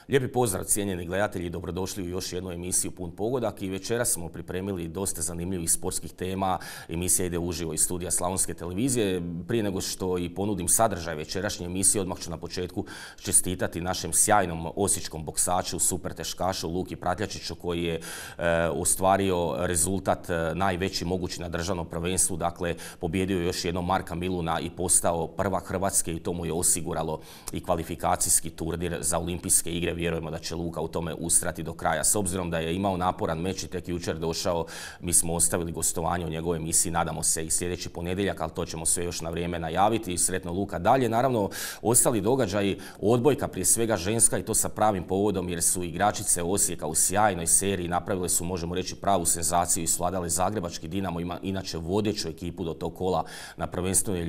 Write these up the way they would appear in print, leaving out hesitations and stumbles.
Lijepi pozdrav cijenjeni gledatelji, dobrodošli u još jednu emisiju Pun pogodak i večeras smo pripremili dosta zanimljivih sportskih tema. Emisija ide uživo iz studija Slavonske televizije. Prije nego što i ponudim sadržaj večerašnje emisije, odmah ću na početku čestitati našem sjajnom osječkom boksaču, super teškašu Luki Pratljačiću koji je ostvario rezultat najveći mogući na državnom prvenstvu. Dakle, pobjedio još jednom Marka Miluna i postao prvak Hrvatske i to mu je osiguralo i kvalifikacijski turnir za olimpijske igre. Vjerujemo da će Luka u tome ustrati do kraja. S obzirom da je imao naporan meč i tek jučer došao, mi smo ostavili gostovanje u njegovoj emisiji. Nadamo se i sljedeći ponedjeljak, ali to ćemo sve još na vrijeme najaviti. Sretno Luka dalje. Naravno, ostali događaji, odbojka prije svega ženska i to sa pravim povodom jer su igračice Osijeka u sjajnoj seriji napravile su, možemo reći, pravu senzaciju i svladale zagrebački Dinamo, ima inače vodeću ekipu do tog kola na prvenstvenoj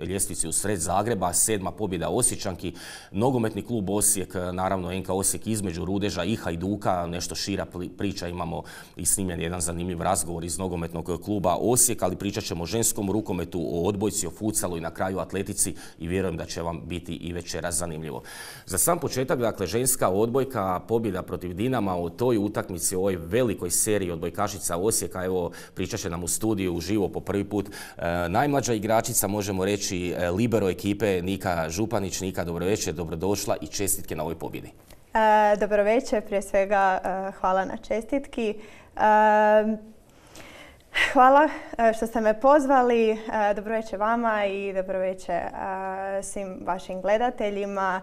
ljestvici u sred Zagreba. 7. pobjeda Osječanki. Nogometni klub Osijek, naravno NK Osijek između Rudeža i Hajduka, nešto šira priča, imamo i snimljen jedan zanimljiv razgovor iz nogometnog kluba Osijek, ali pričat ćemo o ženskom rukometu, o odbojci, o futsalu i na kraju atletici i vjerujem da će vam biti i večeras zanimljivo. Za sam početak, dakle, ženska odbojka, pobjeda protiv Dinama, o toj utakmici, o ovoj velikoj seriji odbojkašica Osijeka, evo pričat će nam u studiju uživo po prvi put najmlađa igračica, možemo reći libero ekipe Nika Županić. Nika, dobro večer, dobrodošla i čestitke na ovoj pobjedi. Dobro večer, prije svega hvala na čestitki. Hvala što ste me pozvali. Dobro večer vama i dobro večer svim vašim gledateljima.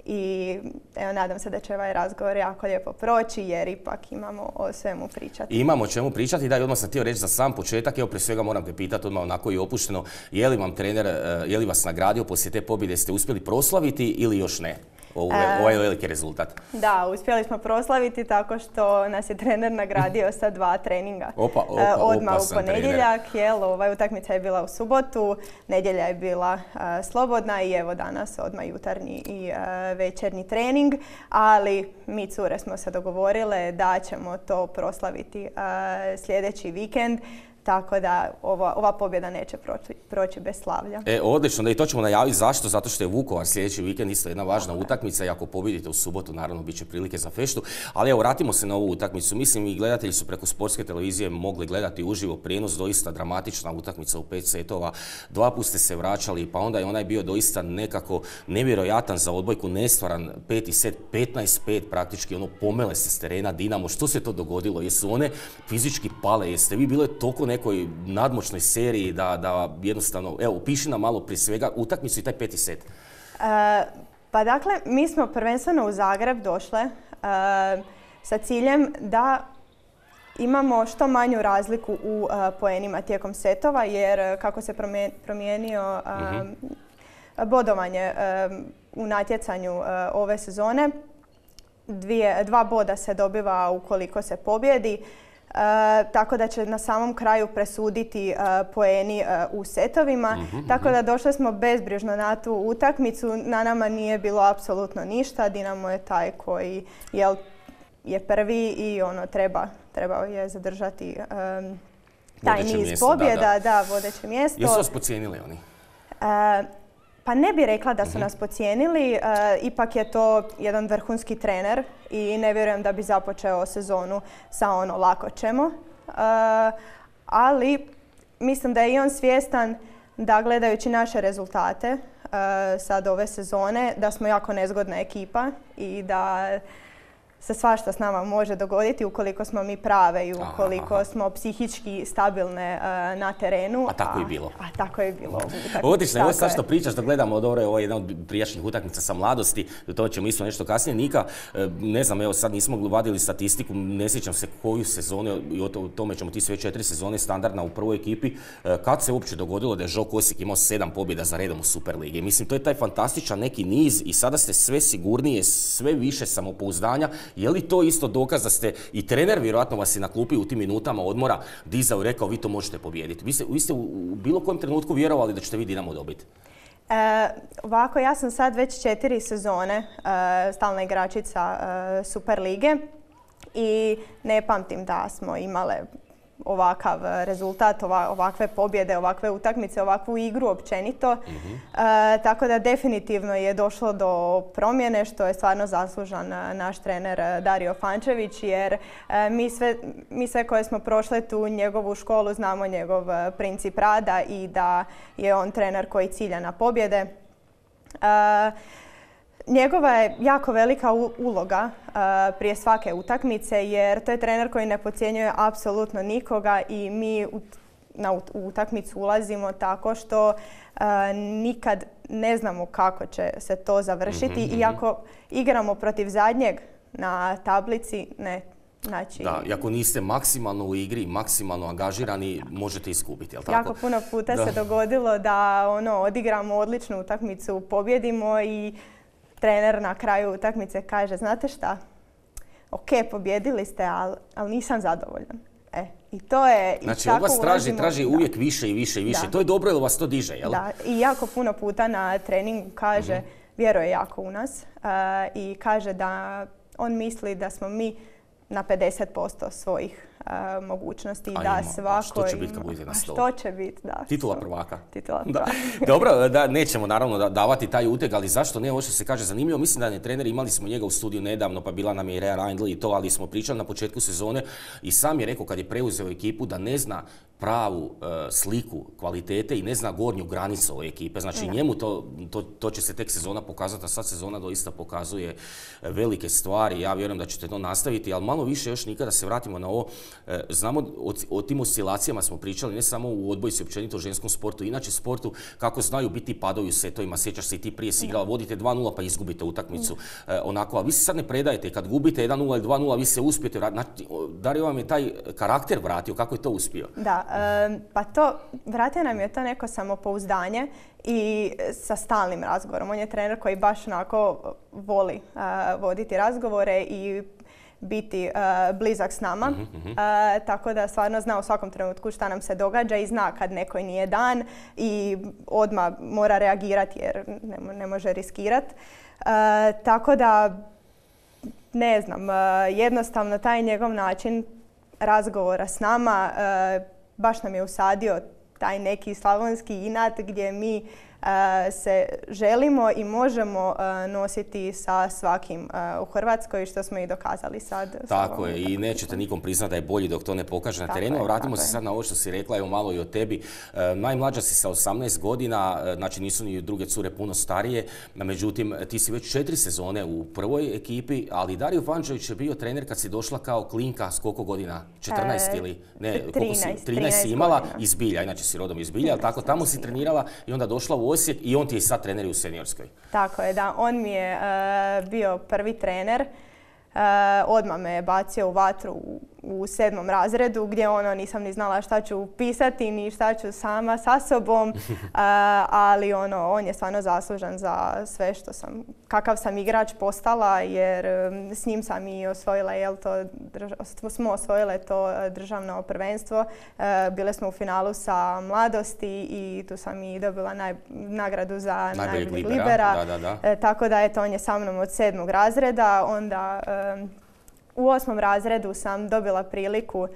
I evo, nadam se da će ovaj razgovor jako lijepo proći jer ipak imamo o svemu pričati. Imamo o čemu pričati, da, i odmah sam htio reći za sam početak, evo prije svega moram te pitati odmah onako i opušteno, je li vam trener, je li vas nagradio poslije te pobjede, ste uspjeli proslaviti ili još ne? Ovaj veliki rezultat. Da, uspjeli smo proslaviti tako što nas je trener nagradio sa 2 treninga. Odmah u ponedjeljak, utakmica je bila u subotu, nedjelja je bila slobodna i evo danas odmah jutarnji i večernji trening, ali mi cure smo se dogovorile da ćemo to proslaviti sljedeći vikend. Tako da ova pobjeda neće proći bez slavlja. Odlično, da i to ćemo najaviti. Zašto? Zato što je Vukovar sljedeći vikend isto jedna važna utakmica i ako pobjedite u subotu, naravno, bit će prilike za feštu. Ali evo, vratimo se na ovu utakmicu. Mislim, i gledatelji su preko sportske televizije mogli gledati uživo prijenos, doista dramatična utakmica u 5 setova. 2 put ste se vraćali, pa onda je onaj bio doista nekako nevjerojatan za odbojku, nestvaran 5. set, 15-5 praktički, pomele se s terena Dinamo. Što se to dogodilo? Jesu one fizički pale? Jeste vi bile toliko nekoj nadmoćnoj seriji da jednostavno, evo, piši nam malo prije svega utakmicu i taj 5. set. Pa dakle, mi smo prvenstveno u Zagreb došle sa ciljem da imamo što manju razliku u poenima tijekom setova, jer kako se promijenio bodovanje u natjecanju ove sezone, 2 boda se dobiva ukoliko se pobjedi. Tako da će na samom kraju presuditi poeni u setovima. Tako da došli smo bezbrižno na tu utakmicu. Na nama nije bilo apsolutno ništa. Dinamo je taj koji je prvi i treba je zadržati taj niz pobjeda, da, vodeće mjesto. Jesu vas podcijenili oni? Pa ne bih rekla da su nas podcijenili, ipak je to jedan vrhunski trener i ne vjerujem da bi započeo sezonu sa lako ćemo. Ali mislim da je i on svjestan da gledajući naše rezultate sad ove sezone, da smo jako nezgodna ekipa i da se svašta s nama može dogoditi ukoliko smo mi prave i ukoliko smo psihički stabilne na terenu. A tako je bilo. A tako je bilo. Odlično, evo sad što pričaš, da gledamo, dobro je ovo jedna od prijašnjih utakmica sa mladosti, to ćemo isto nešto kasnije. Nika, ne znam, evo sad nismo vadili statistiku, ne sjećam se koju sezonu, i o tome ćemo ti sve 4 sezone standardna u prvoj ekipi. Kad se uopće dogodilo da je Žok Osijek imao 7 pobjeda za redom u Superligi? Mislim, to je taj fantastičan neki niz i sada ste sve sigurnije, sve više samopouzdanja. Je li to isto dokaz da ste i trener, vjerojatno vas je na klupi u tim minutama odmora dizao i rekao vi to možete pobijediti? Vi ste u bilo kojem trenutku vjerovali da ćete vi Dinamo dobiti? Ovako, ja sam sad već 4 sezone stalna igračica Superlige i ne pamtim da smo imale ovakav rezultat, ovakve pobjede, ovakve utakmice, ovakvu igru općenito. Tako da definitivno je došlo do promjene, što je stvarno zaslužan naš trener Dario Fančević, jer mi sve koje smo prošle tu njegovu školu znamo njegov princip rada i da je on trener koji cilja na pobjede. Njegova je jako velika uloga prije svake utakmice, jer to je trener koji ne podcjenjuje apsolutno nikoga i mi u utakmicu ulazimo tako što nikad ne znamo kako će se to završiti. I ako igramo protiv zadnjeg na tablici, ne. Znači, da, i ako niste maksimalno u igri, maksimalno angažirani, možete izgubiti, jel tako? Jako puno puta se dogodilo da odigramo odličnu utakmicu, pobjedimo i trener na kraju utakmice kaže, znate šta, ok, pobjedili ste, ali nisam zadovoljan. I to je... Znači, od vas traži uvijek više i više i više. Da. To je dobro jer vas to diže, jel? Da, i jako puno puta na treningu kaže, vjeruje jako u nas i kaže da on misli da smo mi na 50% svojih mogućnosti i da svako... Što će biti kad budete na stolu? Što će biti, da. Titula prvaka. Titula prvaka. Dobro, nećemo naravno davati taj uteg, ali zašto ne? Ovo što se kaže zanimljivo. Mislim da je trener, imali smo njega u studiju nedavno, pa bila nam je Rea Reindl i to, ali smo pričali na početku sezone i sam je rekao kad je preuzeo ekipu da ne zna pravu sliku kvalitete i ne zna gornju granicu ove ekipe. Znači njemu to će se tek sezona pokazati, a sad sezona doista pokazuje velike stvari. Ja vjerujem da ćete to nastaviti, ali malo više još nikada se vratimo na ovo. Znamo o tim oscilacijama smo pričali, ne samo u odbojci, općenito u ženskom sportu, inače sportu, kako znaju biti padovi u setovima. Sjećaš se i ti prije si igrala, vodite 2-0 pa izgubite utakmicu. Onako, a vi se sad ne predajete, kad gubite 1-0 ili 2-0, vi se uspijete vratiti. Dario vam je taj karakter vratio, kako je to uspio? Da, pa vratio nam je to neko samopouzdanje i sa stalnim razgovorom. On je trener koji baš onako voli voditi razgovore i biti blizak s nama, tako da stvarno zna u svakom trenutku šta nam se događa i zna kad nekoj nije dan i odmah mora reagirati jer ne može riskirati. Tako da, ne znam, jednostavno taj njegov način razgovora s nama baš nam je usadio taj neki slavonski inat gdje mi se želimo i možemo nositi sa svakim u Hrvatskoj, što smo i dokazali sad. Tako je, i nećete nikom priznati da je bolji dok to ne pokaže na terenu. Vratimo se sad na ovo što si rekla, evo malo i o tebi. Najmlađa si sa 18 godina, znači nisu ni druge cure puno starije, međutim ti si već 4 sezone u prvoj ekipi, ali Dario Fančević je bio trener kad si došla kao klinka s koliko godina? 14 ili? Ne, 13 si imala iz Bilja, inače si rodom iz Bilja, ali tako tamo si trenirala i onda došla u Osijek i on ti je sad trener u seniorskoj. Tako je, da. On mi je bio prvi trener. Odmah me je bacio u vatru u 7. razredu gdje nisam ni znala šta ću pisati ni šta ću sama sa sobom, ali on je stvarno zaslužan za sve što kakav sam igrač postala, jer s njim sam i osvojila, smo osvojile to državno prvenstvo. Bile smo u finalu sa Mladosti i tu sam i dobila nagradu za najboljeg libera. Da. Tako da on je sa mnom od 7. razreda, onda u 8. razredu sam dobila priliku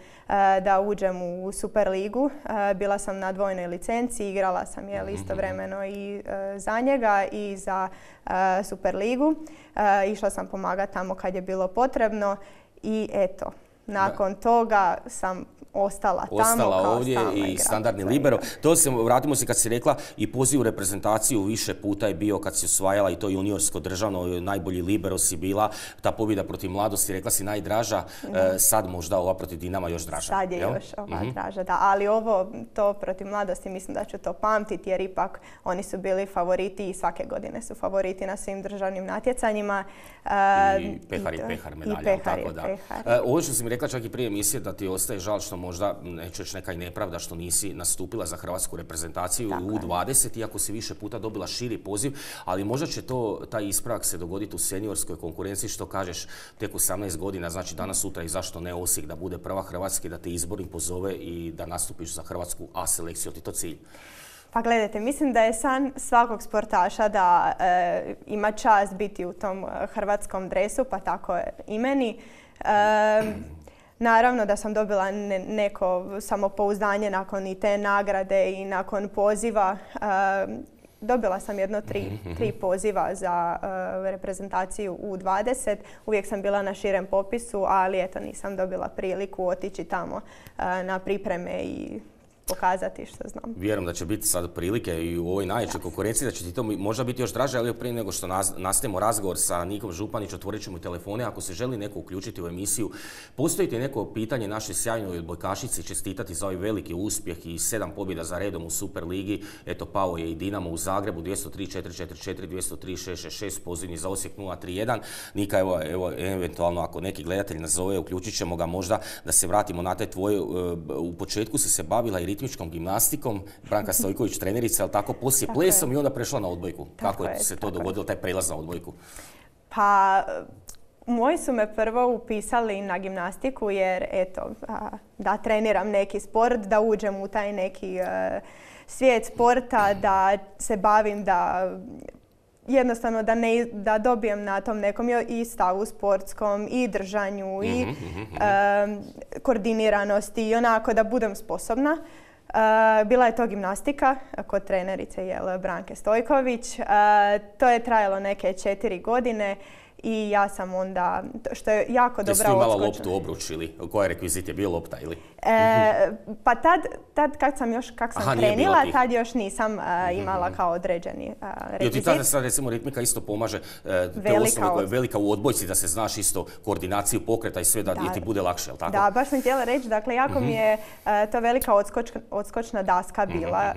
da uđem u Superligu. Bila sam na dvojnoj licenciji, igrala sam istovremeno i za njega i za Superligu. Išla sam pomagati tamo kad je bilo potrebno i eto, nakon toga sam ostala ovdje i standardni libero. Vratimo se kad si rekla i poziv u reprezentaciju više puta je bio kad si osvajala i to juniorsko državno, najbolji libero si bila. Ta pobjeda protiv Mladosti, rekla si najdraža, sad možda ova protiv Dinama još draža. Sad je još ova draža, da. Ali to protiv Mladosti mislim da ću to pamtiti jer ipak oni su bili favoriti i svake godine su favoriti na svim državnim natjecanjima. I pehar medalja. Ovo što si mi rekla čak i prije emisije da ti ostaje žal što možda, neću reći neka i nepravda što nisi nastupila za hrvatsku reprezentaciju u U20, iako si više puta dobila širi poziv, ali možda će taj ispravak se dogoditi u seniorskoj konkurenciji, što kažeš, tek 18 godina, znači danas, sutra i zašto ne Osijek da bude prva Hrvatske, da te izbornik pozove i da nastupiš za hrvatsku A selekciju, ti to cilj? Pa gledajte, mislim da je san svakog sportaša da ima čast biti u tom hrvatskom dresu, pa tako i meni. Naravno da sam dobila neko samopouzdanje nakon i te nagrade i nakon poziva. Dobila sam jedno tri poziva za reprezentaciju U20. Uvijek sam bila na širem popisu, ali eto nisam dobila priliku otići tamo na pripreme i pokazati što znam. Vjerujem da će biti sad prilike i u ovoj najvećoj konkurenciji, da će ti to možda biti još draže, ali prije nego što nastavimo razgovor sa Nikom Županić, otvorit ćemo telefone. Ako se želi neko uključiti u emisiju, postoji ti neko pitanje našoj sjajnoj odbojkašici, čestitati za ovaj veliki uspjeh i 7 pobjeda za redom u Superligi. Eto, pao je i Dinamo u Zagrebu, 203-444, 203-666, pozivni za Osijek 031. Nika, evo, eventualno ako neki gledatelj nazove, uključit ćemo ga možda da se vratimo na te tvoje. U početku si se bavila i ritmičkom gimnastikom, Branka Stojković trenerica, ali tako poslije plesom i onda prešla na odbojku. Kako se to dogodilo, taj prelaz na odbojku? Pa, moji su me prvo upisali na gimnastiku jer, eto, da treniram neki sport, da uđem u taj neki svijet sporta, da se bavim, da jednostavno da dobijem na tom nekom i stavu sportskom, i držanju, i koordiniranosti, i onako da budem sposobna. Bila je to gimnastika kod trenerice Branke Stojković. To je trajalo neke 4 godine i ja sam onda, što je jako dobra odskočna. Jesi imala loptu, obruč ili koji rekvizit je bio, lopta ili? Pa tad kak sam trenila, tad još nisam imala kao određeni rekvizit. I ti tada sad recimo ritmika isto pomaže te osnove koje je velika u odbojci, da se znaš isto koordinaciju pokreta i sve da ti bude lakše, jel tako? Da, baš sam htjela reći, dakle jako mi je to velika odskočna daska bila.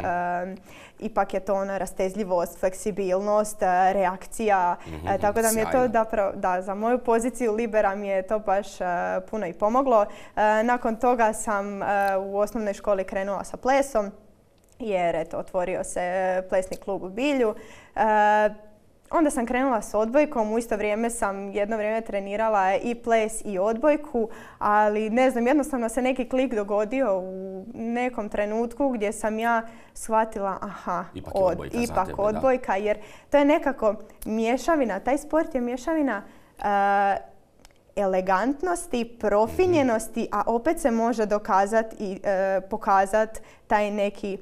Ipak je to ona rastezljivost, fleksibilnost, reakcija, tako da mi je to da za moju poziciju libera mi je to baš puno i pomoglo. Nakon toga sam u osnovnoj školi krenula sa plesom jer eto, otvorio se plesni klub u Bilju. Onda sam krenula s odbojkom, u isto vrijeme sam jedno vrijeme trenirala i ples i odbojku, ali ne znam, jednostavno se neki klik dogodio u nekom trenutku gdje sam ja shvatila, ipak odbojka, jer to je nekako mješavina, taj sport je mješavina elegantnosti, profinjenosti, a opet se može dokazati i pokazati taj neki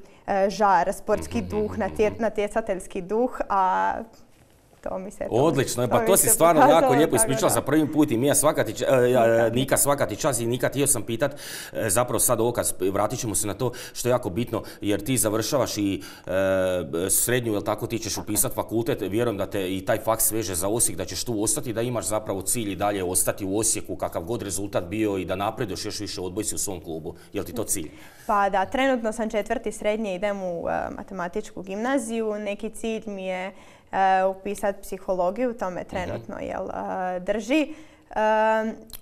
žar, sportski duh, natjecateljski duh, a to mi se... Odlično, pa to si stvarno jako lijepo ispričala za prvim put i Nika svaka ti čas i Nika, htio sam pitat, zapravo sad ovo kad vratit ćemo se na to što je jako bitno, jer ti završavaš i srednju, jel tako, ti ćeš upisati fakultet, vjerujem da te i taj faks veže za Osijek, da ćeš tu ostati, da imaš zapravo cilj i dalje ostati u Osijeku, kakav god rezultat bio i da napreduješ još više odbojci u svom klubu. Jel ti to cilj? Pa da, trenutno sam 4. srednje, idem u matematičku gimnaziju, neki cilj mi je upisati psihologiju, to me trenutno drži.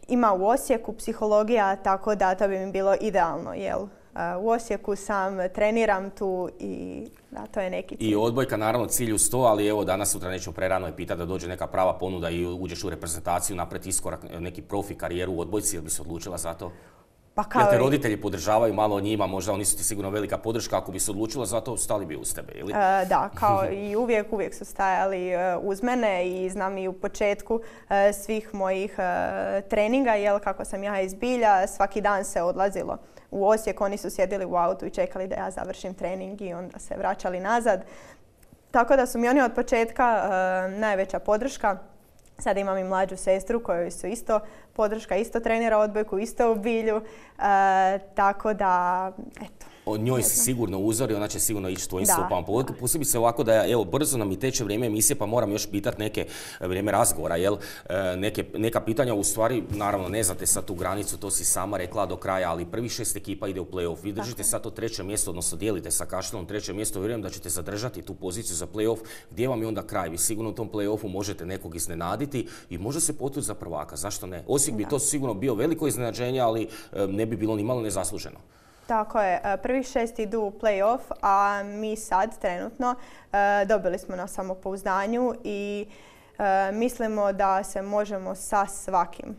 Ima u Osijeku psihologija, tako da to bi mi bilo idealno. U Osijeku sam, treniram tu i da, to je neki cilj. I odbojka naravno cilj uz to, ali evo danas sutra nećemo prerano je pitati da dođe neka prava ponuda i uđeš u reprezentaciju, napred iskorak, neki profi karijeru u odbojci, jel bi se odlučila za to? Jer te roditelji podržavaju malo njima, možda oni su ti sigurno velika podrška, ako bi se odlučila za to, stali bi uz tebe, ili? Da, kao i uvijek su stajali uz mene i znam i u početku svih mojih treninga, kako sam ja iz Bilja, svaki dan se odlazilo u Osijek, oni su sjedili u autu i čekali da ja završim trening i onda se vraćali nazad. Tako da su mi oni od početka najveća podrška. Sada imam i mlađu sestru kojoj su isto podrška, isto trenira odbojku, isto u Bilju, tako da, eto. O njoj si sigurno uzor i ona će sigurno ići s tvojim stopama. Posebice ovako da, evo, brzo nam i teče vrijeme emisije, pa moram još pitati neke vrijeme razgovora, neka pitanja, u stvari, naravno, ne znate sad tu granicu, to si sama rekla do kraja, ali prvih 6 ekipa ide u play-off. Vi držite sad to 3. mjesto, odnosno dijelite sa Kaštelom 3. mjesto, vjerujem da ćete zadržati tu poziciju za play-off. Gdje vam je onda kraj? Vi sigurno u tom play-offu možete nekog iznenaditi i može se potući za prvaka, zašto ne? Osijek bi to sigurno bio veliko iznenađenje, ali ne bi bilo ni malo nezasluženo. Tako je, prvih 6 idu u play-off, a mi sad trenutno dobili smo na samopouzdanju i Mislimo da se možemo sa svakim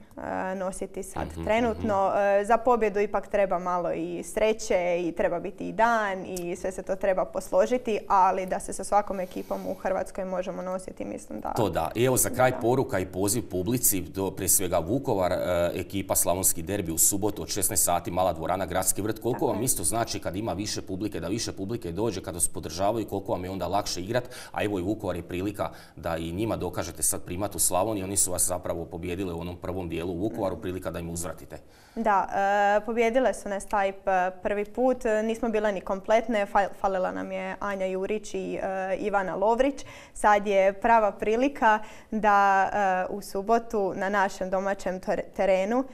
nositi sad trenutno. Za pobjedu ipak treba malo i sreće i treba biti i dan i sve se to treba posložiti, ali da se sa svakom ekipom u Hrvatskoj možemo nositi, mislim da... To da. I evo za kraj poruka i poziv publici, prije svega Vukovar, ekipa Slavonski derbi u subotu od 16 sati, mala dvorana, Gradski vrt. Koliko vam isto znači kad ima više publike, da više publike dođe, kada se podržavaju, koliko vam je onda lakše igrat, a evo i Vukovar je prilika da i njima dokažete sad primat u Slavoniji, oni su vas zapravo pobijedili u onom prvom dijelu u Vukovaru, prilika da im uzvratite. Da, pobijedile su nas taj prvi put, nismo bile ni kompletne, falila nam je Anja Jurić i Ivana Lovrić. Sad je prava prilika da u subotu na našem domaćem terenu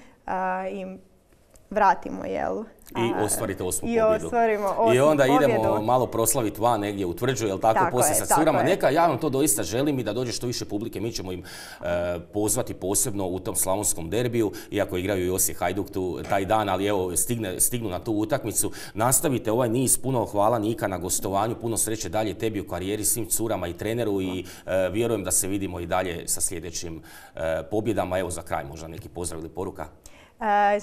im vratimo, jel? I ostvarite osmu pobjedu. I onda idemo malo proslaviti van negdje u Tvrđu, jel tako, poslije sa curama. Neka, ja vam to doista želim i da dođe što više publike. Mi ćemo im pozvati posebno u tom slavonskom derbiju, iako igraju i Osijek Hajduk taj dan, ali evo, stignu na tu utakmicu. Nastavite ovaj niz, puno hvala Nika na gostovanju, puno sreće dalje tebi u karijeri, svim curama i treneru i vjerujem da se vidimo i dalje sa sljedećim pobjedama. Evo za kraj možda neki pozdrav ili poruka.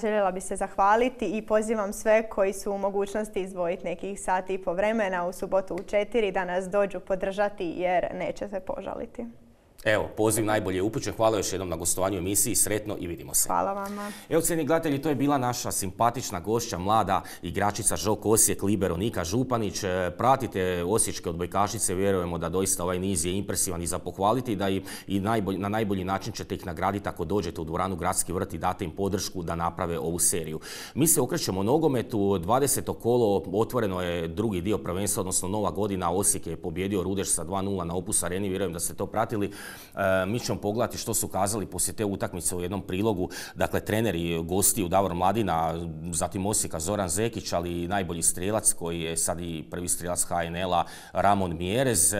Željela bi se zahvaliti i pozivam sve koji su u mogućnosti izdvojiti nekih sati i po vremena u subotu u 4 da nas dođu podržati jer neće se požaliti. Evo, poziv najbolje je upućen. Hvala još jednom na gostovanju emisiji. Sretno i vidimo se. Hvala vama. Evo, cijenjeni gledatelji, to je bila naša simpatična gošća, mlada igračica Žok Osijek, libero Nika Županić. Pratite osječke odbojkašice, vjerujemo da doista ovaj niz je impresivan i za pohvaliti, da i na najbolji način ćete ih nagraditi ako dođete u dvoranu Gradski vrt i date im podršku da naprave ovu seriju. Mi se okrećemo nogometu, 20. kolo, otvoreno je drugi dio prvenstva, odnosno nova godina. Osijek je pobjedio Rudeš sa 2:0 na Opus Areni, vjerujem da ste to pratili. Mi ćemo pogledati što su kazali poslije te utakmice u jednom prilogu. Dakle, treneri gostiju Davor Mladina, zatim Osijeka Zoran Zekić, ali i najbolji strijelac koji je sad i prvi strijelac HNL-a Ramon Mjerez.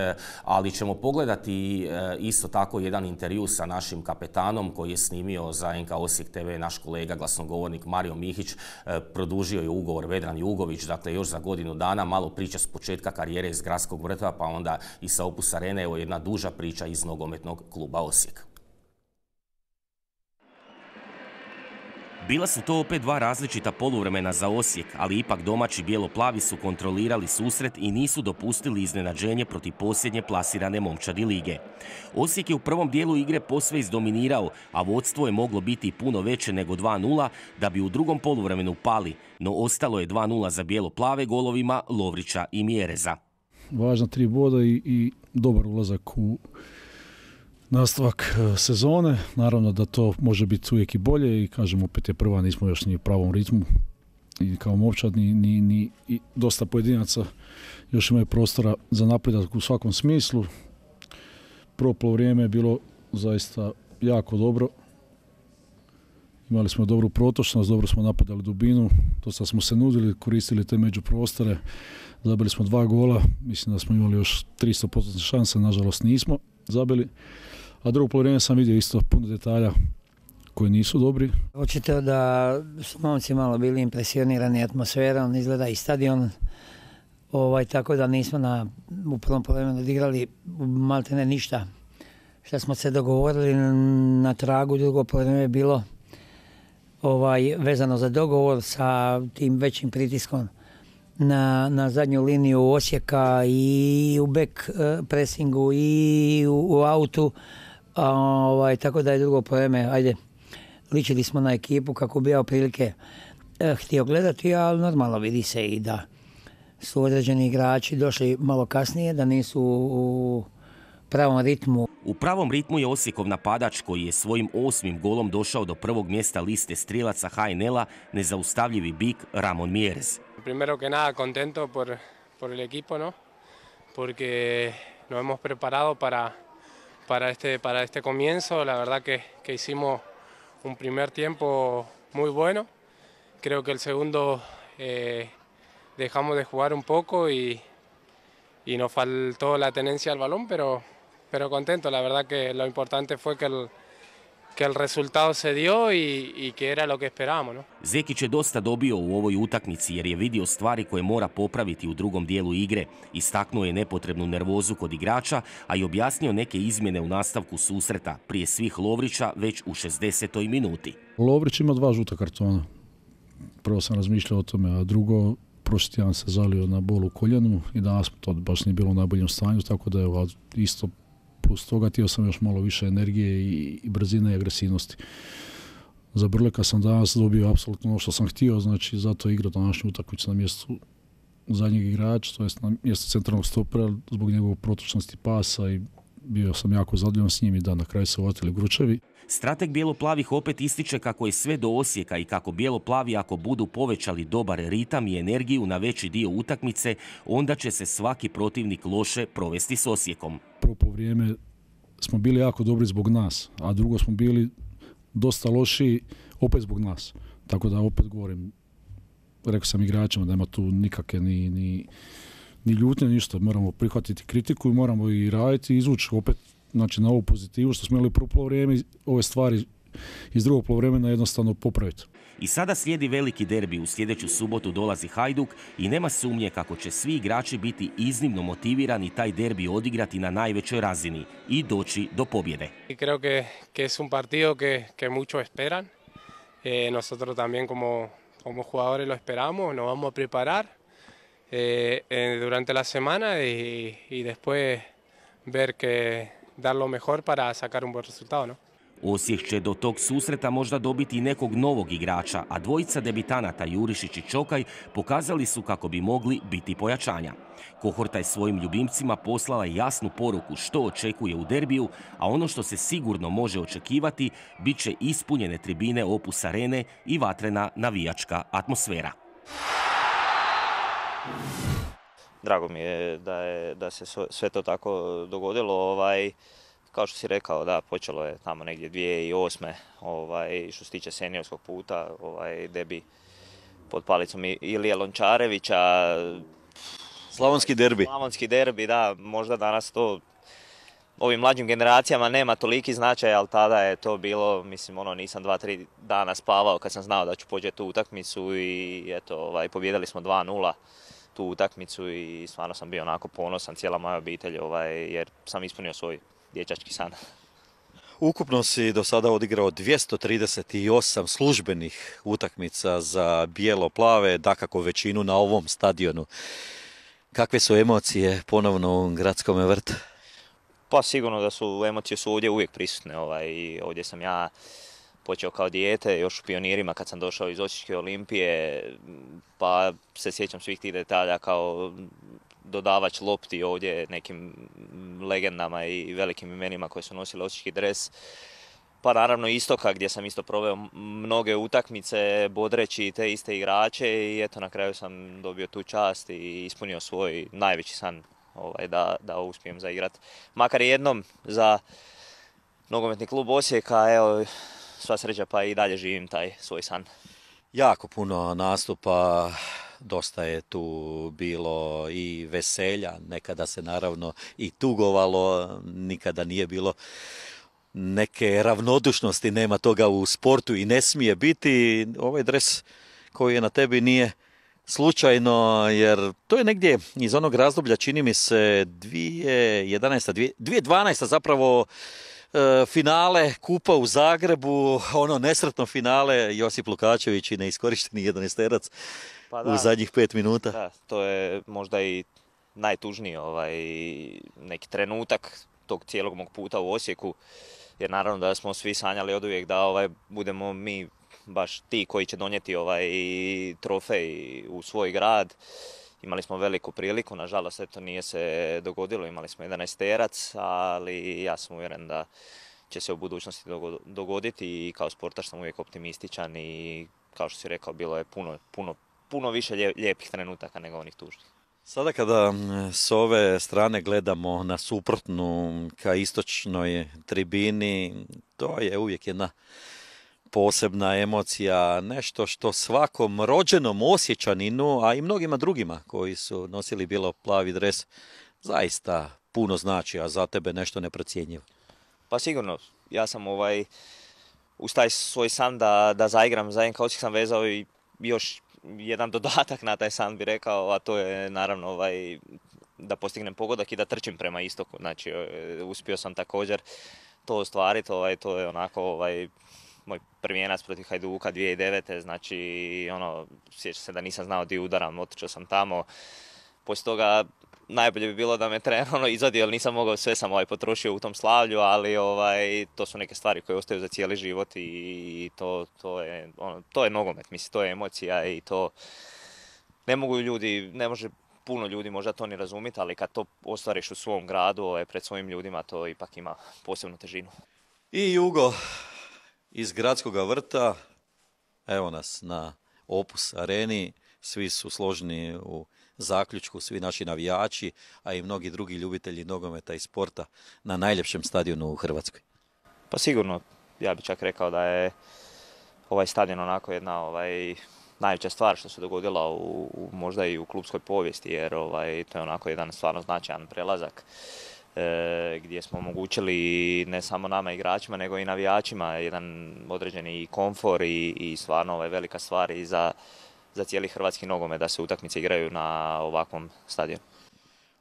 Ali ćemo pogledati isto tako jedan intervju sa našim kapetanom koji je snimio za NK Osijek TV naš kolega, glasnogovornik Mario Mihić. Produžio je ugovor Vedran Jugović, dakle još za godinu dana. Malo priča s početka karijere iz Gradskog vrta, pa onda i sa Opus Arene. Evo jedna duža priča iz nogometnog kluba Osijek. Bila su to opet dva različita poluvremena za Osijek, ali ipak domaći bijelo-plavi su kontrolirali susret i nisu dopustili iznenađenje protiv posljednje plasirane momčadi lige. Osijek je u prvom dijelu igre posve izdominirao, a vodstvo je moglo biti i puno veće nego 2:0 da bi u drugom poluvremenu pali, no ostalo je 2:0 za bijelo-plave golovima Lovrića i Mjereza. Važna 3 boda i dobar ulazak u nastavak sezone. Naravno da to može biti uvijek i bolje i kažem opet je prva, nismo još ni u pravom ritmu i kao momčad ni dosta pojedinaca još imaju prostora za napredak u svakom smislu. Prvo poluvrijeme je bilo zaista jako dobro. Imali smo dobru protočnost, dobro smo napadali dubinu, dosta smo se nudili, koristili te međuprostore, zabili smo 2 gola, mislim da smo imali još 300% šanse, nažalost nismo zabili. A drugo poluvrijeme sam vidio isto puno detalja koji nisu dobri. Očito da su momci malo bili impresionirani atmosferom, izgleda i stadion, tako da nismo u prvom poluvremenu odigrali maltene ništa. Što smo se dogovorili na tragu, drugo poluvreme je bilo vezano za dogovor sa tim većim pritiskom na zadnju liniju Osijeka i u back pressingu i u autu. Tako da je drugo poluvreme, ličili smo na ekipu kako bi ja prilike htio gledati, ali normalno vidi se i da su određeni igrači došli malo kasnije, da nisu u pravom ritmu. U pravom ritmu je Osijekov napadač koji je svojim 8. golom došao do prvog mjesta liste strijelaca HNL-a, nezaustavljivi bik Ramon Mjerez. Primero que nada contento por el equipo, ¿no? Porque nos hemos preparado para este comienzo. La verdad que hicimos un primer tiempo muy bueno. Creo que el segundo dejamos de jugar un poco y nos faltó la tenencia al balón, pero contento. La verdad que lo importante fue que el resultado se dio y que era lo que esperábamos, ¿no? Zekić je dosta dobio u ovoj utakmici jer je vidio stvari koje mora popraviti u drugom dijelu igre. Istaknuo je nepotrebnu nervozu kod igrača, a i objasnio neke izmjene u nastavku susreta, prije svih Lovrića već u 60. minuti. Lovrić ima 2 žuta kartona. Prvo sam razmišljao o tome, a drugo, prošli tjedan se zalio na bol u koljenu i danas to baš nije bilo u najboljem stanju, tako da je isto plus toga htio sam još malo više energije i brzine i agresivnosti. Za Brleka sam danas dobio apsolutno ono što sam htio, znači zato igrao današnju utakmicu na mjestu zadnjeg igrača, to jest na mjestu centralnog stopera zbog njegove protočnosti pasa i bio sam jako zadovoljan s njim i da na kraju se uvatili Gručevi. Strateg bijelo-plavih opet ističe kako je sve do Osijeka i kako bijelo-plavi ako budu povećali dobar ritam i energiju na veći dio utakmice, onda će se svaki protivnik loše provesti s Osijekom. Prvo vrijeme smo bili jako dobri zbog nas, a drugo smo bili dosta loši opet zbog nas. Tako da opet govorim, rekao sam igračima da nema tu nikakve ni ljutnje, ništa. Moramo prihvatiti kritiku i moramo i raditi i izvući opet znači, na ovu pozitivu što smo imali prvo poluvreme, ove stvari iz drugog poluvremena jednostavno popraviti. I sada slijedi veliki derbi, u sljedeću subotu dolazi Hajduk i nema sumnje kako će svi igrači biti iznimno motivirani taj derbi odigrati na najvećoj razini i doći do pobjede. Creo que es un partido que muchos esperan. Nosotros también como jugadores lo esperamos, nos vamos a preparar durante la semana y después ver que dar lo mejor para sacar un buen resultado, ¿no? Osijek će do tog susreta možda dobiti i nekog novog igrača, a dvojica debitanata Jurišić i Čokaj pokazali su kako bi mogli biti pojačanja. Kohorta je svojim ljubimcima poslala jasnu poruku što očekuje u derbiju, a ono što se sigurno može očekivati bit će ispunjene tribine Opus Arene i vatrena navijačka atmosfera. Drago mi je da se sve to tako dogodilo. Kao što si rekao, da, počelo je tamo negdje 2008. Što se tiče seniorskog puta, debi pod palicom Ilije Lončarevića. Slavonski derbi. Slavonski derbi, da, možda danas to ovim mlađim generacijama nema toliki značaj, ali tada je to bilo, mislim, nisam 2-3 dana spavao kad sam znao da ću pođeti tu utakmicu i eto, pobjedili smo 2-0 tu utakmicu i stvarno sam bio onako ponosan, cijela moja obitelj, jer sam ispunio svoj dječački san. Ukupno si do sada odigrao 238 službenih utakmica za bijelo-plave, dakako većinu na ovom stadionu. Kakve su emocije ponovno u Gradskom vrtu? Pa sigurno da su emocije ovdje uvijek prisutne. Ovdje sam ja počeo kao dijete, još u pionirima kad sam došao iz Osječke Olimpije, pa se sjećam svih tih detalja kao dodavač lopti ovdje nekim legendama i velikim imenima koje su nosili osječki dres. Pa naravno Istoka gdje sam isto proveo mnoge utakmice bodreći te iste igrače i eto na kraju sam dobio tu čast i ispunio svoj najveći san da uspijem zaigrat. Makar jednom za nogometni klub Osijeka, evo sva sreća pa i dalje živim taj svoj san. Jako puno nastupa, dosta je tu bilo i veselja, nekada se naravno i tugovalo, nikada nije bilo neke ravnodušnosti, nema toga u sportu i ne smije biti. Ovaj dres koji je na tebi nije slučajno, jer to je negdje iz onog razdoblja, čini mi se 2012. zapravo finale Kupa u Zagrebu, ono nesretno finale, Josip Lukačević i neiskorišteni 11-terac u zadnjih 5 minuta. Da, to je možda i najtužniji neki trenutak tog cijelog mog puta u Osijeku, jer naravno da smo svi sanjali oduvijek da budemo mi baš ti koji će donijeti trofej u svoj grad. Imali smo veliku priliku, nažalost eto nije se dogodilo, imali smo 11-terac, ali ja sam uvjeren da će se u budućnosti dogoditi i kao sportaš sam uvijek optimističan i kao što si rekao bilo je puno više lijepih trenutaka nego onih tužnih. Sada kada s ove strane gledamo na suprotnu ka istočnoj tribini, to je uvijek jedna posebna emocija, nešto što svakom rođenom Osječaninu, a i mnogima drugima koji su nosili bijelo-plavi dres, zaista puno znači, a za tebe nešto neprocjenjivo. Pa sigurno, ja sam uz taj svoj san da zaigram za NK Osijek sam vezao i još jedan dodatak na taj san bi rekao, a to je naravno da postignem pogodak i da trčim prema istoku. Znači, uspio sam također to ostvariti, to je onako moj prvijenac protiv Hajduka 2009. Znači, sjećam se da nisam znao di udaram, otišao sam tamo. Poslije toga najbolje bi bilo da me trener izvadio, jer nisam mogao, sve sam potrošio u tom slavlju, ali to su neke stvari koje ostaju za cijeli život i to je nogomet, mislim, to je emocija i to ne može puno ljudi možda to ni razumjeti, ali kad to ostvariš u svom gradu, pred svojim ljudima, to ipak ima posebnu težinu. I Jugo iz Gradskog vrta, evo nas na Opus areni, svi su složni u zaključku, svi naši navijači, a i mnogi drugi ljubitelji nogometa i sporta na najljepšem stadionu u Hrvatskoj. Pa sigurno, ja bih čak rekao da je ovaj stadion onako jedna najveća stvar što se dogodila možda i u klubskoj povijesti, jer to je onako jedan stvarno značajan prelazak gdje smo omogućili ne samo nama igračima, nego i navijačima jedan određeni komfor i stvarno velika stvar i za cijeli hrvatski nogomet da se utakmice igraju na ovakvom stadionu.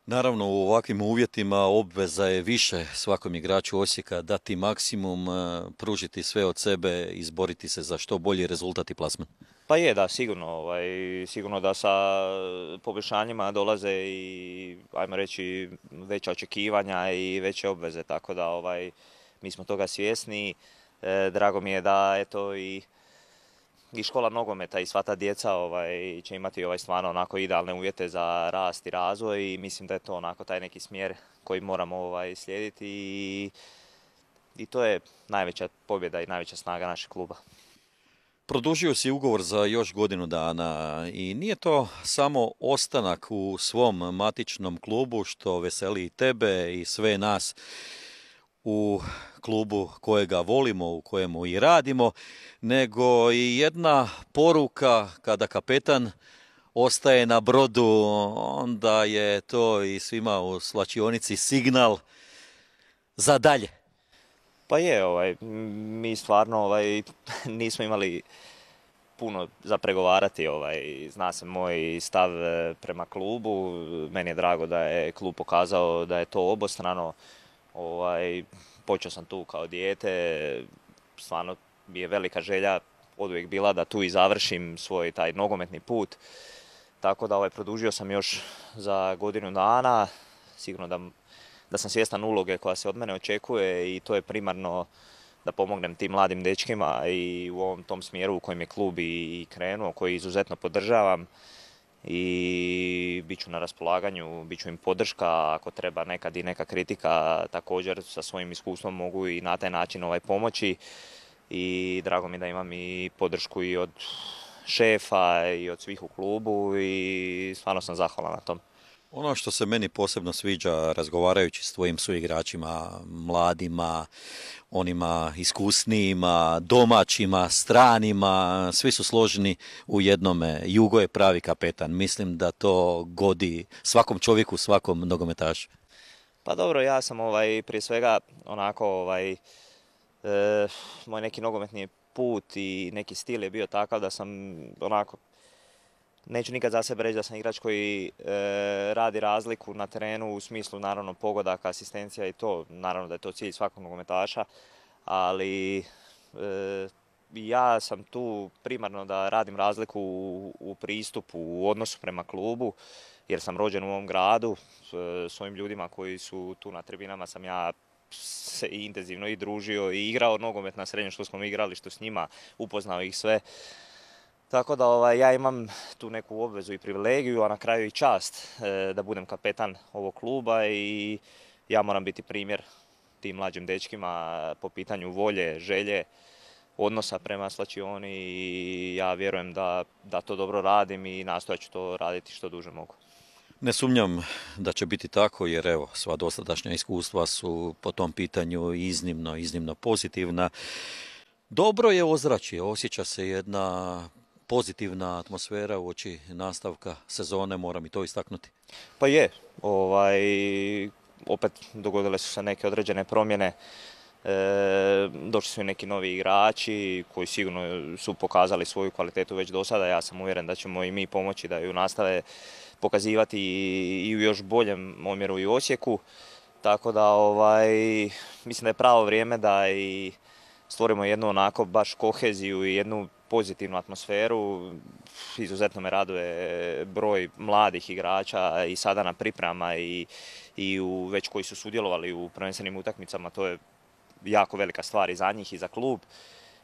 Naravno, u ovakvim uvjetima obveza je više svakom igraču Osijeka dati maksimum, pružiti sve od sebe, izboriti se za što bolji rezultat i plasman. Pa je, da, sigurno da sa poboljšanjima dolaze i, ajmo reći, veća očekivanja i veće obveze, tako da mi smo toga svjesni. Drago mi je da eto i škola nogometa i sva ta djeca će imati stvarno onako idealne uvjete za rast i razvoj i mislim da je to onako taj neki smjer koji moramo slijediti i to je najveća pobjeda i najveća snaga našeg kluba. Produžio si ugovor za još godinu dana i nije to samo ostanak u svom matičnom klubu što veseli i tebe i sve nas u klubu kojega volimo, u kojemu i radimo, nego i jedna poruka kada kapetan ostaje na brodu, onda je to i svima u svlačionici signal za dalje. Pa je, mi stvarno nismo imali puno za pregovarati, zna se moj stav prema klubu, meni je drago da je klub pokazao da je to obostrano, počeo sam tu kao dijete, stvarno mi je velika želja oduvijek bila da tu i završim svoj taj nogometni put, tako da produžio sam još za godinu dana, sigurno da sam svjestan uloge koja se od mene očekuje i to je primarno da pomognem tim mladim dečkima i u ovom tom smjeru u kojem je klub i krenuo, koji izuzetno podržavam i bit ću na raspolaganju, bit ću im podrška, ako treba nekad i neka kritika, također sa svojim iskustvom mogu i na taj način pomoći i drago mi da imam i podršku i od šefa i od svih u klubu i stvarno sam zahvalan na tom. Ono što se meni posebno sviđa razgovarajući s tvojim suigračima, mladima, onima iskusnijima, domaćima, stranima, svi su složeni u jednome. Jugo je pravi kapetan. Mislim da to godi svakom čovjeku, svakom nogometašu. Pa dobro, ja sam prije svega onako moj neki nogometni put i neki stil je bio takav da sam onako, neću nikad za sebe reći da sam igrač koji radi razliku na terenu u smislu naravno pogodaka, asistencija i to, naravno da je to cilj svakog nogometaša, ali ja sam tu primarno da radim razliku u pristupu, u odnosu prema klubu, jer sam rođen u ovom gradu, s ovim ljudima koji su tu na tribinama sam ja se intenzivno i družio i igrao nogomet na srednjoškolskom igralištu s njima, upoznao ih sve. Tako da ja imam tu neku obvezu i privilegiju, a na kraju i čast da budem kapetan ovog kluba i ja moram biti primjer tim mlađim dečkima po pitanju volje, želje, odnosa prema svlačioni i ja vjerujem da to dobro radim i nastojat ću to raditi što duže mogu. Ne sumnjam da će biti tako jer evo, sva dosadašnja iskustva su po tom pitanju iznimno pozitivna. Dobro je ozračje, osjeća se jedna pozitivna atmosfera uoči nastavka sezone, moram i to istaknuti. Pa je, opet dogodile su se neke određene promjene. došli su i neki novi igrači koji sigurno su pokazali svoju kvalitetu već do sada. Ja sam uvjeren da ćemo i mi pomoći da ju nastave pokazivati i u još boljem omjeru i u Osijeku. Tako da mislim da je pravo vrijeme da i stvorimo jednu onako baš koheziju i jednu pozitivnu atmosferu. Izuzetno me raduje broj mladih igrača i sada na pripremama i već koji su sudjelovali u prvenstvenim utakmicama. To je jako velika stvar i za njih i za klub.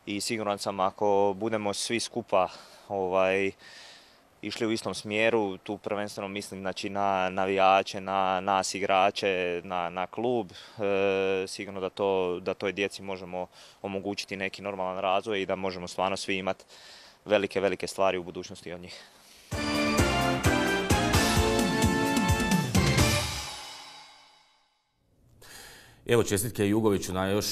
I siguran sam ako budemo svi skupa išli u istom smjeru, tu prvenstveno mislim znači, na navijače, na nas igrače, na klub, sigurno da toj djeci možemo omogućiti neki normalan razvoj i da možemo stvarno svi imati velike stvari u budućnosti od njih. Evo, čestitke Jugoviću na još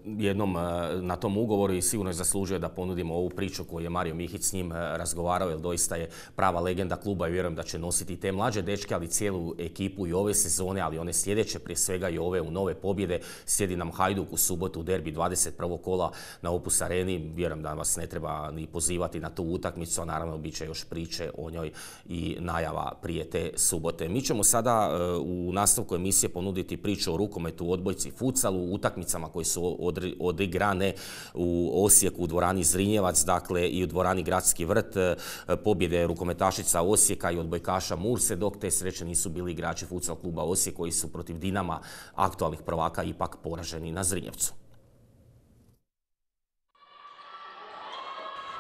jednom na tom ugovoru i sigurno je zaslužio da ponudimo ovu priču koju je Mario Mihić s njim razgovarao, jer doista je prava legenda kluba i vjerujem da će nositi te mlađe dečke, ali cijelu ekipu i ove sezone, ali one sljedeće, prije svega i ove u nove pobjede. Slijedi nam Hajduk u subotu, derbi 21. kola na Opus Areni. Vjerujem da vas ne treba ni pozivati na tu utakmicu, a naravno bit će još priče o njoj i najava prije te subote. Mi ćemo sada u nastavku emisije ponuditi priču o rukometu, odbojci, futsalu, utakmicama koje su odigrane u Osijeku u dvorani Zrinjevac, dakle i u dvorani Gradski vrt, pobjede rukometašica Osijeka i odbojkaša Murse, dok te sreće nisu bili igrači futsal kluba Osijek koji su protiv Dinama, aktualnih prvaka, ipak poraženi na Zrinjevcu.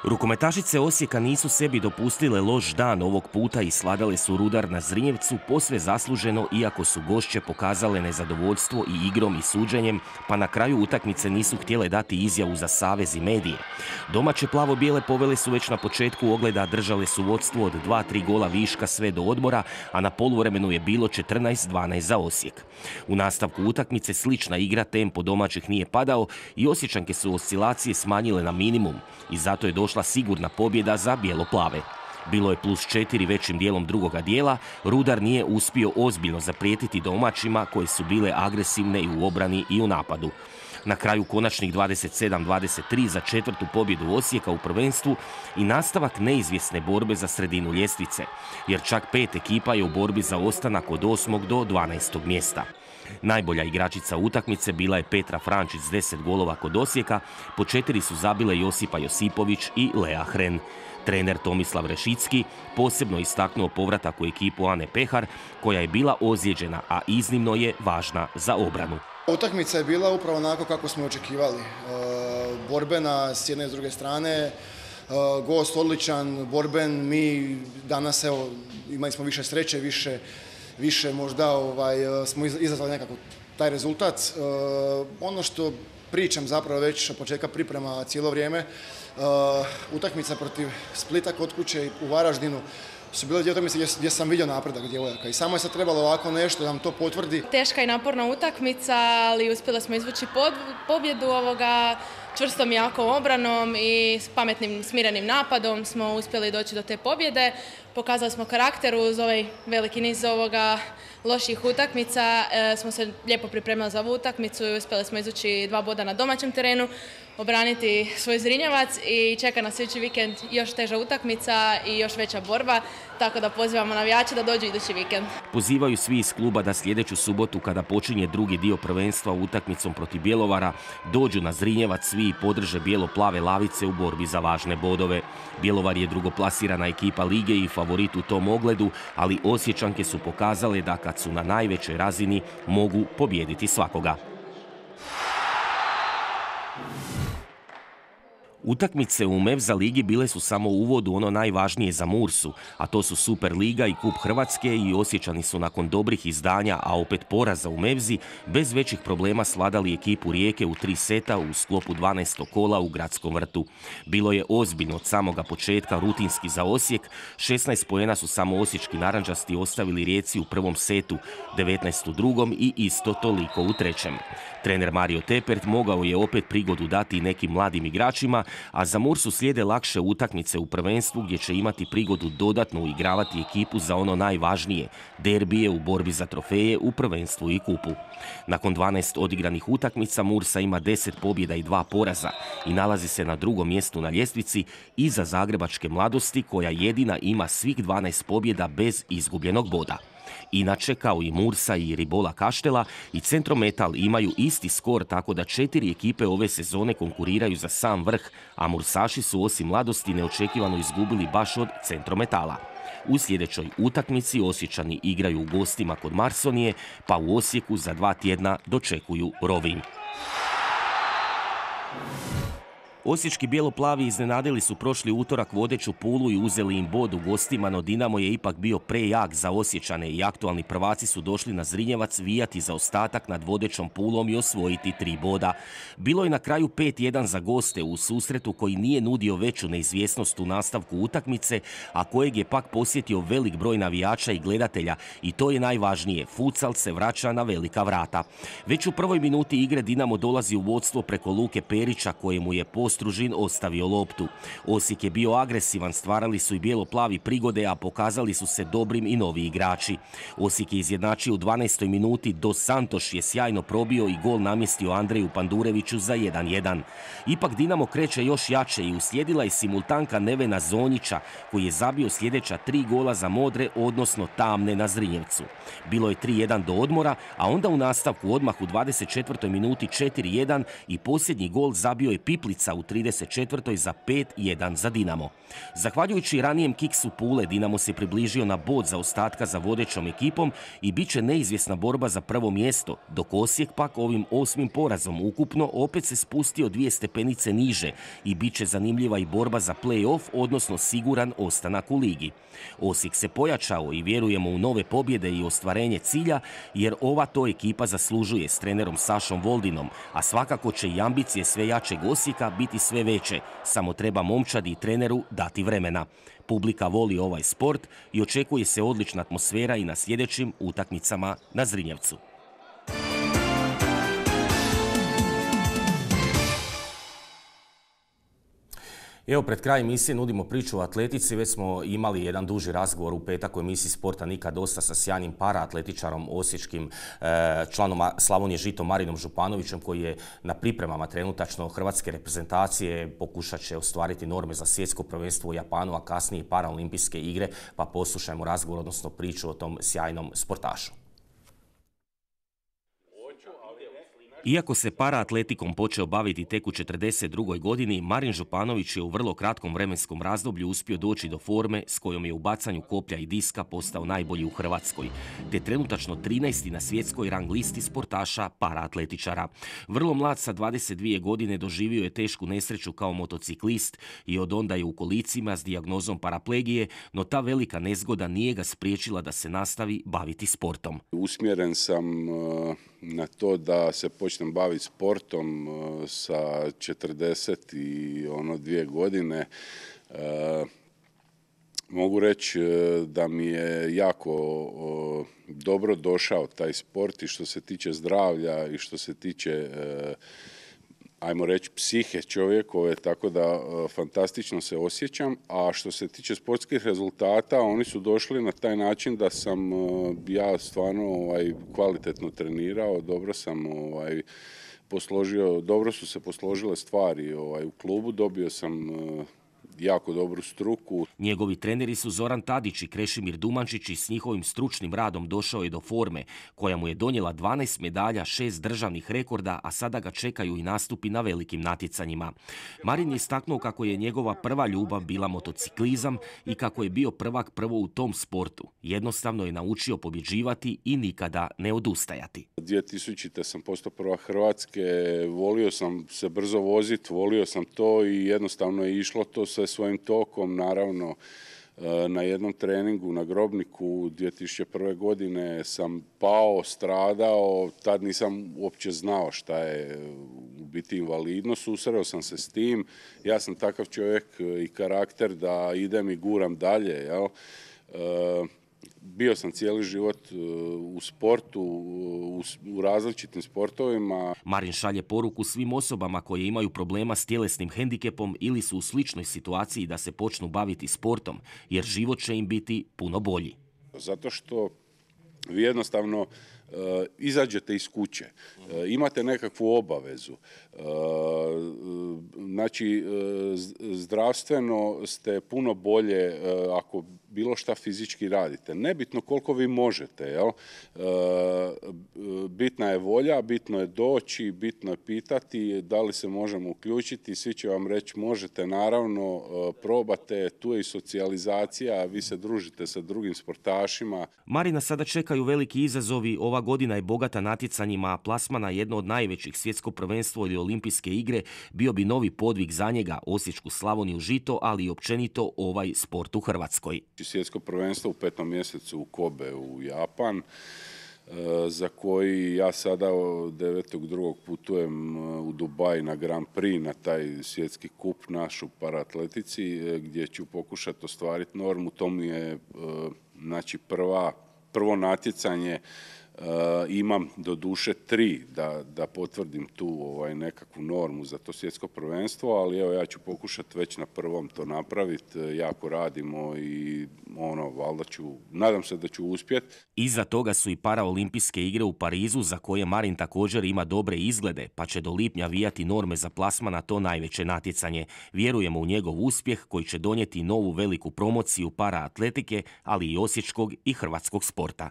Rukometašice Osijeka nisu sebi dopustile loš dan ovog puta i sladale su Rudar na Zrinjevcu posve zasluženo, iako su gošće pokazale nezadovoljstvo i igrom i suđenjem, pa na kraju utakmice nisu htjele dati izjavu za savez i medije. Domaće plavo-bijele povele su već na početku ogleda, držale su vodstvo od 2-3 gola viška sve do odmora, a na poluvremenu je bilo 14-12 za Osijek. U nastavku utakmice slična igra, tempo domaćih nije padao i Osječanke su oscilacije smanjile na minimum i zato je došla sigurna pobjeda za bijelo-plave. Bilo je +4 većim dijelom drugoga dijela, Rudar nije uspio ozbiljno zaprijetiti domaćima koje su bile agresivne i u obrani i u napadu. Na kraju konačnih 27-23 za četvrtu pobjedu Osijeka u prvenstvu i nastavak neizvjesne borbe za sredinu ljestvice, jer čak 5 ekipa je u borbi za ostanak od 8. do 12. mjesta. Najbolja igračica utakmice bila je Petra Frančić s 10 golova kod Osijeka, po 4 su zabile Josipa Josipović i Lea Hren. Trener Tomislav Rešicki posebno istaknuo povratak u ekipu Ane Pehar, koja je bila ozlijeđena, a iznimno je važna za obranu. Utakmica je bila upravo onako kako smo očekivali. Borbena s jedne i s druge strane, gost odličan, borben, mi danas evo, imali smo više sreće, više možda smo izazvali nekako taj rezultat. Ono što pričam zapravo već od početka priprema cijelo vrijeme, utakmica protiv Splita kod kuće u Varaždinu su bile dvije utakmice gdje sam vidio napredak djevojaka i samo je sad trebalo ovako nešto da nam to potvrdi. Teška i naporna utakmica, ali uspjeli smo izvući pobjedu čvrstom i jakom obranom i s pametnim, smirenim napadom smo uspjeli doći do te pobjede. Pokazali smo karakter uz ovaj veliki niz loših utakmica. Smo se lijepo pripremili za ovu utakmicu i uspjeli smo izvući 2 boda na domaćem terenu, obraniti svoj Zrinjevac i čeka nas sljedeći vikend još teža utakmica i još veća borba, tako da pozivamo navijače da dođu idući vikend. Pozivaju svi iz kluba da sljedeću subotu, kada počinje drugi dio prvenstva utakmicom protiv Bjelovara, dođu na Zrinjevac svi i podrže bijelo-plave lavice u borbi za važne bodove. Bjelovar je drugoplasirana ekipa lige i favorit u tom ogledu, ali Osječanke su pokazale da kad su na najvećoj razini mogu pobijediti svakoga. Utakmice u Mevza ligi bile su samo u uvodu ono najvažnije za Mursu, a to su Super liga i Kup Hrvatske, i Osječani su nakon dobrih izdanja, a opet poraza u Mevzi, bez većih problema svladali ekipu Rijeke u 3 seta u sklopu 12. kola u Gradskom vrtu. Bilo je ozbiljno od samoga početka, rutinski za Osijek. 16 poena su samo osječki narančasti ostavili Rijeci u prvom setu, 19 u drugom i isto toliko u trećem. Trener Mario Tepert mogao je opet prigodu dati i nekim mladim igračima, a za Mursu slijede lakše utakmice u prvenstvu gdje će imati prigodu dodatno uigravati ekipu za ono najvažnije, derbije u borbi za trofeje u prvenstvu i kupu. Nakon 12 odigranih utakmica Mursa ima 10 pobjeda i 2 poraza i nalazi se na drugom mjestu na ljestvici iza Zagrebačke Mladosti koja jedina ima svih 12 pobjeda bez izgubljenog boda. Inače, kao i Mursa i Ribola Kaštela, i Centrometal imaju isti skor, tako da 4 ekipe ove sezone konkuriraju za sam vrh, a Mursaši su osim Mladosti neočekivano izgubili baš od Centrometala. U sljedećoj utakmici Osječani igraju u gostima kod Marsonije, pa u Osijeku za 2 tjedna dočekuju Rovinj. Osječki bijeloplavi iznenadili su prošli utorak vodeću Pulu i uzeli im bod u gostima, no Dinamo je ipak bio prejak za Osječane i aktualni prvaci su došli na Zrinjevac vijati za ostatak nad vodećom Pulom i osvojiti 3 boda. Bilo je na kraju 5-1 za goste u susretu koji nije nudio veću neizvjesnost u nastavku utakmice, a kojeg je pak posjetio velik broj navijača i gledatelja i to je najvažnije, futsal se vraća na velika vrata. Već u prvoj minuti igre Dinamo dolazi u vodstvo preko Luke Perića kojemu je Ostružin ostavio loptu. Osijek je bio agresivan, stvarali su i bijeloplavi prigode, a pokazali su se dobrim i novi igrači. Osijek je izjednačio u 12. minuti, Dos Santos je sjajno probio i gol namjestio Andreju Pandureviću za 1-1. Ipak Dinamo kreće još jače i uslijedila je simultanka Nevena Zonjića koji je zabio sljedeća 3 gola za modre, odnosno tamne na Zrinjevcu. Bilo je 3-1 do odmora, a onda u nastavku odmah u 24. minuti 4-1 i posljednji gol zabio je Piplica u 34. za 5-1 za Dinamo. Zahvaljujući ranijem kiksu Pule, Dinamo se približio na bod za ostatka za vodećom ekipom i bit će neizvjesna borba za prvo mjesto, dok Osijek pak ovim 8. porazom ukupno opet se spustio 2 stepenice niže i bit će zanimljiva i borba za play-off, odnosno siguran ostanak u ligi. Osijek se pojačao i vjerujemo u nove pobjede i ostvarenje cilja, jer ova to ekipa zaslužuje s trenerom Sašom Voldinom, a svakako će i ambicije sve jačeg Osijeka biti sve veće, samo treba momčadi i treneru dati vremena. Publika voli ovaj sport i očekuje se odlična atmosfera i na sljedećim utakmicama na Zrinjevcu. Evo, pred kraj emisije nudimo priču o atletici. Već smo imali jedan duži razgovor u petak u emisiji Sporta nikad dosta sa sjajnim paraatletičarom, osječkim članom Slavonije Žito Marinom Županovićem, koji je na pripremama trenutačno hrvatske reprezentacije, pokušat će ostvariti norme za svjetsko prvenstvo u Japanu, a kasnije i paraolimpijske igre, pa poslušajmo razgovor, odnosno priču o tom sjajnom sportašu. Iako se paraatletikom počeo baviti tek u 42. godini, Marin Županović je u vrlo kratkom vremenskom razdoblju uspio doći do forme s kojom je u bacanju koplja i diska postao najbolji u Hrvatskoj, te trenutačno 13. na svjetskoj rang listi sportaša paraatletičara. Vrlo mlad sa 22 godine doživio je tešku nesreću kao motociklist i od onda je u kolicima s dijagnozom paraplegije, no ta velika nezgoda nije ga spriječila da se nastavi baviti sportom. Usmjeren sam na to da se počnem baviti sportom sa 42 godine. Mogu reći da mi je jako dobro došao taj sport i što se tiče zdravlja i što se tiče ajmo reći psihe čovjekove, tako da fantastično se osjećam. A što se tiče sportskih rezultata, oni su došli na taj način da sam ja stvarno kvalitetno trenirao, dobro sam posložio, dobro su se posložile stvari u klubu, dobio sam jako dobru struku. Njegovi treneri su Zoran Tadić i Krešimir Dumančić i s njihovim stručnim radom došao je do forme, koja mu je donijela 12 medalja, 6 državnih rekorda, a sada ga čekaju i nastupi na velikim natjecanjima. Marin je istaknuo kako je njegova prva ljubav bila motociklizam i kako je bio prvak prvo u tom sportu. Jednostavno je naučio pobjeđivati i nikada ne odustajati. 2000. sam postao prvak Hrvatske, volio sam se brzo voziti, volio sam to i jednostavno je išlo to sve svojim tokom. Naravno, na jednom treningu na Grobniku 2001. godine sam pao, stradao, tad nisam uopće znao šta je u biti invalidnost, susreo sam se s tim. Ja sam takav čovjek i karakter da idem i guram dalje, jel? bio sam cijeli život u sportu, u različitim sportovima. Marin šalje poruku svim osobama koje imaju problema s tjelesnim hendikepom ili su u sličnoj situaciji da se počnu baviti sportom, jer život će im biti puno bolji. Zato što vi jednostavno izađete iz kuće, imate nekakvu obavezu, znači zdravstveno ste puno bolje ako bilo šta fizički radite. Nebitno koliko vi možete, jel? Bitna je volja, bitno je doći, bitno je pitati da li se možemo uključiti, svi će vam reći možete, naravno, probate, tu je i socijalizacija, vi se družite sa drugim sportašima. Marina sada čekaju veliki izazovi. Ova godina je bogata natjecanjima, plasmana jedno od najvećih, svjetsko prvenstvo ili olimpijske igre, bio bi novi podvig za njega, Osječku Slavoniju žito, ali i općenito ovaj sport u Hrvatskoj. Svjetsko prvenstvo u 5. mjesecu u Kobe u Japan, za koji ja sada 9.2. putujem u Dubaj na Grand Prix, na taj svjetski kup naš u paraatletici, gdje ću pokušati ostvariti normu. To mi je znači prvo natjecanje. Imam do duše 3 da potvrdim tu nekakvu normu za to svjetsko prvenstvo, ali evo ja ću pokušati već na prvom to napraviti, jako radimo i valjda nadam se da ću uspjeti. Iza toga su i paraolimpijske igre u Parizu, za koje Marin također ima dobre izglede, pa će do lipnja vijati norme za plasman na to najveće natjecanje. Vjerujemo u njegov uspjeh koji će donijeti novu veliku promociju paraatletike, ali i osječkog i hrvatskog sporta.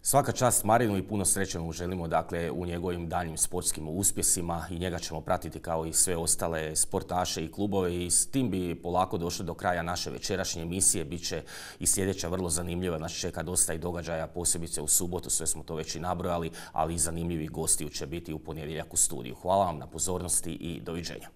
Svaka čast Marinu i puno sreće mu želimo u njegovim daljnjim sportskim uspjesima i njega ćemo pratiti kao i sve ostale sportaše i klubove i s tim bi polako došli do kraja naše večerašnje emisije. Biće i sljedeća vrlo zanimljiva, nas čeka dosta i događaja, posebice u subotu, sve smo to već i nabrojali, ali i zanimljivi gosti će biti u ponedjeljak u studiju. Hvala vam na pozornosti i doviđenja.